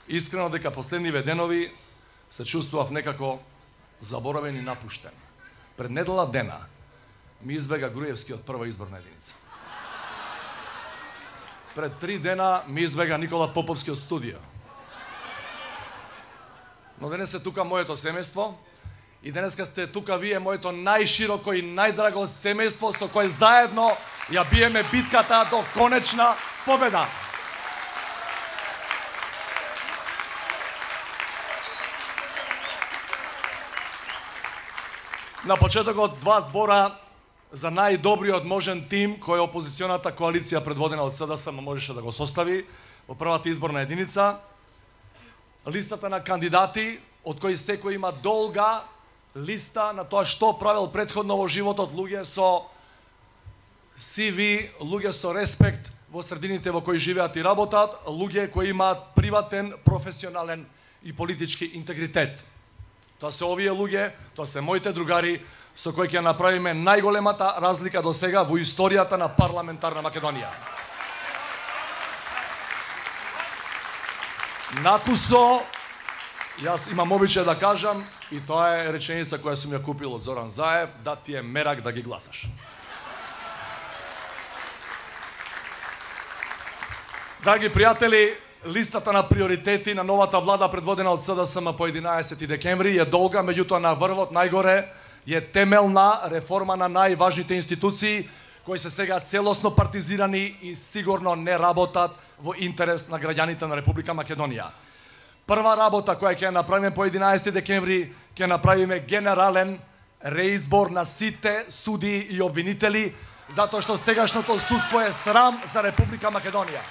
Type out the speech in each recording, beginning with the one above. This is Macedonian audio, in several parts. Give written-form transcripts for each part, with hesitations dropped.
Искрено дека последниве денови се чувствував некако заборавен и напуштен. Пред недела дена ми избега Груевски од прва изборна единица. Пред 3 дена ми избега Никола Поповски од студио. Но денес е тука моето семејство и денеска сте тука вие, моето најшироко и најдраго семејство со кое заедно ја биеме битката до конечна победа. На почетокот 2 збора за најдобриот можен тим кој опозиционата коалиција предводена од СДСМ можеше да го состави во првата изборна единица. Листата на кандидати, од кои секој има долга листа на тоа што правил претходно во животот, луѓе со CV, луѓе со респект во средините во кои живеат и работат, луѓе кои имаат приватен, професионален и политички интегритет. Тоа се овие луѓе, тоа се моите другари со кои ќе направиме најголемата разлика до сега во историјата на парламентарна Македонија. Накусо, јас имам обичај да кажам, и тоа е реченица која сум ја купил од Зоран Заев, да ти е мерак да ги гласаш. Драги пријатели, листата на приоритети на новата влада предводена од СДСМ по 11 декември е долга, меѓутоа на врвот најгоре е темелна реформа на најважните институции кои се сега целосно партизирани и сигурно не работат во интерес на граѓаните на Република Македонија. Прва работа која ќе направиме по 11 декември, ќе направиме генерален реизбор на сите судии и обвинители, затоа што сегашното судство е срам за Република Македонија.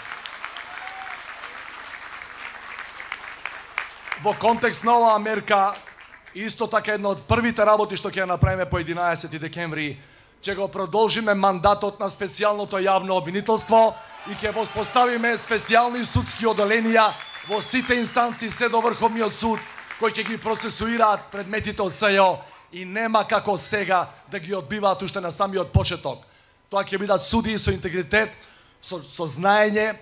Во контекст на оваа мерка, исто така една од првите работи што ќе направиме по 11 декември, ќе го продолжиме мандатот на специјалното јавно обвинителство и ќе воспоставиме специјални судски оделенија во сите инстанции се до Врховниот суд, кои ќе ги процесуираат предметите од СЈО и нема како сега да ги одбиваат уште на самиот почеток. Тоа ќе бидат судии со интегритет, со знаење,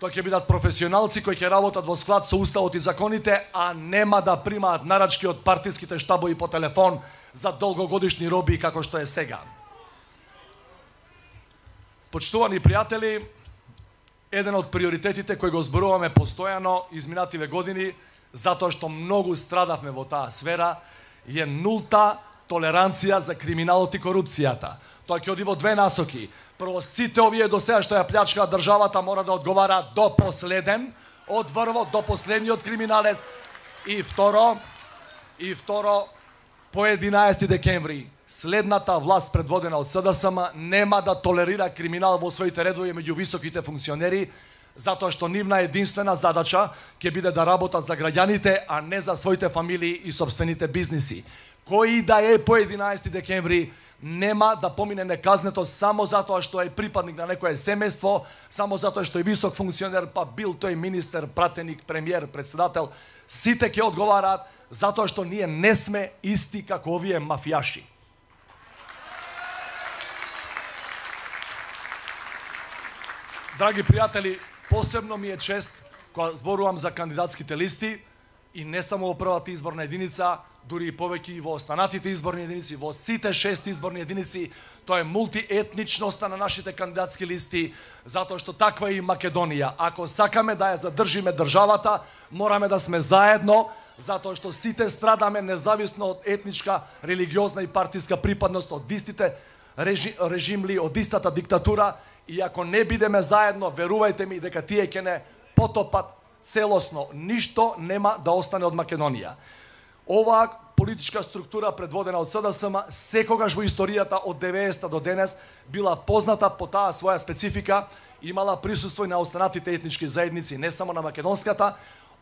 тоа ќе бидат професионалци кои ќе работат во склад со уставот и законите, а нема да примаат нарачки од партиските штабови по телефон за долгогодишни роби како што е сега. Почитувани пријатели, еден од приоритетите кои го зборуваме постојано изминативе години, затоа што многу страдавме во таа сфера, е нулта толеранција за криминалот и корупцијата. Тоа ќе оди во две насоки. Прво, сите овие до сега што ја плячкаат државата мора да одговараат до последен, од врвот до последниот криминалец. И второ, по 11 декември, следната власт предводена од СДСМ нема да толерира криминал во своите редови меѓу високите функционери, затоа што нивна единствена задача ќе биде да работат за граѓаните, а не за своите фамилии и собствените бизниси. Кој да е по 11 декември нема да помине неказнето само затоа што е припадник на некое семејство, само затоа што е висок функционер, па бил тој министер, пратеник, премиер, председател. Сите ќе одговараат затоа што ние не сме исти како овие мафијаши. Драги пријатели, посебно ми е чест кога зборувам за кандидатските листи и не само во првата изборна единица, дури и повеќе и во останатите изборни единици, во сите 6 изборни единици, тоа е мултиетничноста на нашите кандидатски листи, затоа што таква е и Македонија. Ако сакаме да ја задржиме државата, мораме да сме заедно, затоа што сите страдаме независно од етничка, религиозна и партиска припадност, од истите режимли, од истата диктатура, и ако не бидеме заедно, верувајте ми дека тие ќе не потопат целосно. Ништо нема да остане од Македонија. Оваа политичка структура предводена од СДСМ секогаш во историјата од 90-та до денес била позната по таа своја специфика, имала присуство и на останатите етнички заедници, не само на македонската.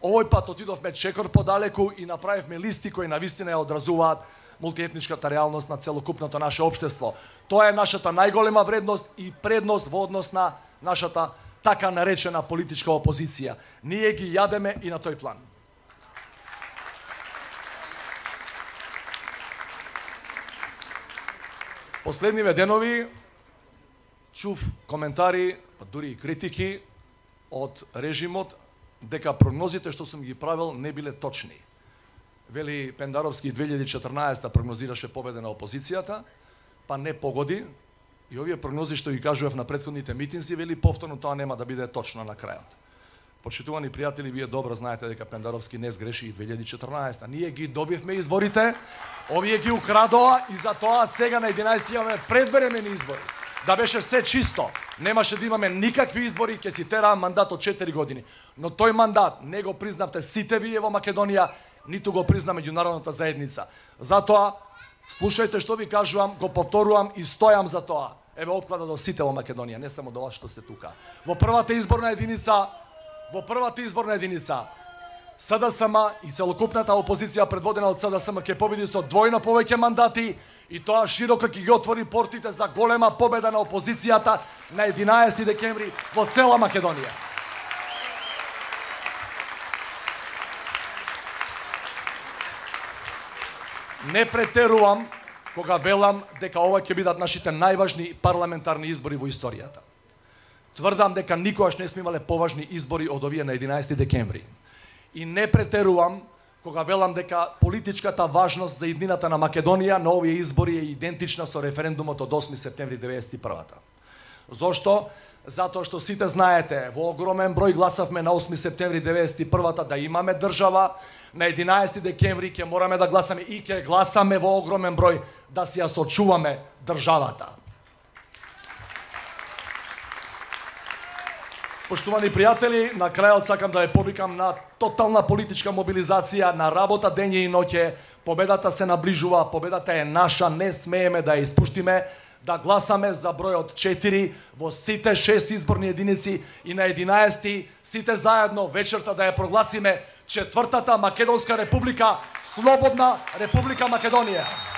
Овој пат отидовме чекор подалеку и направивме листи кои навистина ја одразуваат мултиетничката реалност на целокупното наше општество. Тоа е нашата најголема вредност и предност во однос на нашата така наречена политичка опозиција. Ние ги јадеме и на тој план. Последниве денови чув коментари, па дури и критики од режимот дека прогнозите што сум ги правил не биле точни. Вели Пендаровски 2014 прогнозираше победа на опозицијата, па не погоди, и овие прогнози што ги кажував на претходните митинзи, вели повторно тоа нема да биде точно на крајот. Почитувани пријатели, вие добро знаете дека Пендаровски не сгреши и 2014. Ние ги добивме изборите, овие ги украдоа и за тоа сега на 11 имаме предвремени избори. Да беше се чисто, немаше да имаме никакви избори, ќе си тераа мандат од 4 години. Но тој мандат не го признавте сите вие во Македонија, ниту го призна меѓународната заедница. Затоа, слушајте што ви кажувам, го повторувам и стојам за тоа. Еве опклада до сите во Македонија, не само до вас што сте тука. Во првата изборна единица, СДСМ и целокупната опозиција предводена од СДСМ ќе победи со двојно повеќе мандати и тоа широко ќе ги отвори портите за голема победа на опозицијата на 11 декември во цела Македонија. Не претерувам кога велам дека ова ќе бидат нашите најважни парламентарни избори во историјата. Тврдам дека никогаш не сме имале поважни избори од овие на 11 декември. И не претерувам кога велам дека политичката важност за иднината на Македонија на овие избори е идентична со референдумот од 8 септември 1991. Зошто? Затоа што сите знаете, во огромен број гласавме на 8 септември 1991 да имаме држава, на 11 декември ќе мораме да гласаме и ќе гласаме во огромен број да си ја сочуваме државата. Поштовани пријатели, на крајот сакам да ја повикам на тотална политичка мобилизација, на работа дење и ноќе. Победата се наближува, победата е наша, не смееме да ја испуштиме, да гласаме за бројот 4 во сите 6 изборни единици и на 11 сите заедно вечерта да ја прогласиме 4-та Македонска република, слободна Република Македонија.